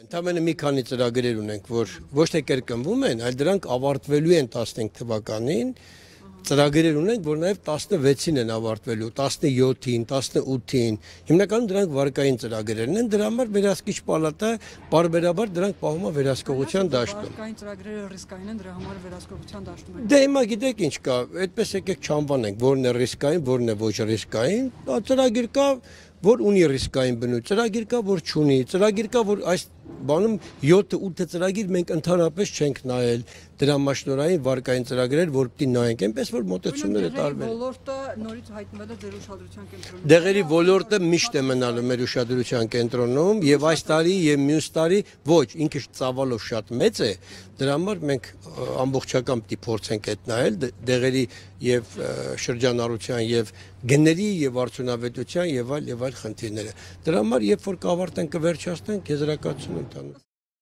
Ընդամենը մի քանի ծրագրեր ունենք, որ ոչ թե կրկնվում են, այլ դրանք ավարտվելու են 15 թվականին։ Ծրագրեր ունենք, որ նաև 16-ին են ավարտվելու, 17-ին, 18-ին։ Հիմնականում դրանք վարկային ծրագրերն են, դրա համար վերահսկիչ պալատը բարբերաբար դրանք պահում է վերահսկողության դաշտում։ Վարկային ծրագրերը ռիսկային են, դրա համար վերահսկողության դաշտում են։ Դե հիմա գիտեք ինչ կա, այդպես եկեք չանվանենք, որն է ռիսկային, որն է ոչ ռիսկային։ Ծրագիր կա, որ ունի ռիսկային բնույթ, ծրագիր կա, որ չունի, ծրագիր կա, որ այս բանում 7-8 ծրագիր մենք ընդհանրապես չենք նայել, դրամաշնորհային վարկային ծրագրեր, որ պիտի նայենք, այնպես որ մոտեցումները տարբեր են։ Ոլորտը նորից հայտնվել է ձեր ուշադրության կենտրոնում։ Դեղերի ոլորտը միշտ է մնալու մեր ուշադրության կենտրոնում եւ այս տարի եւ մյուս տարի ոչ, ինքը ծավալով շատ մեծ է, դրա համար մենք ամբողջական պիտի փորձենք այդ նայել դեղերի եւ շրջանառության եւ գների եւ արդյունավետության եւ այլ խնդիրները։ Դրա համար երբ որ կավարտենք կվերջացնենք եզրակացություն ընդհանուր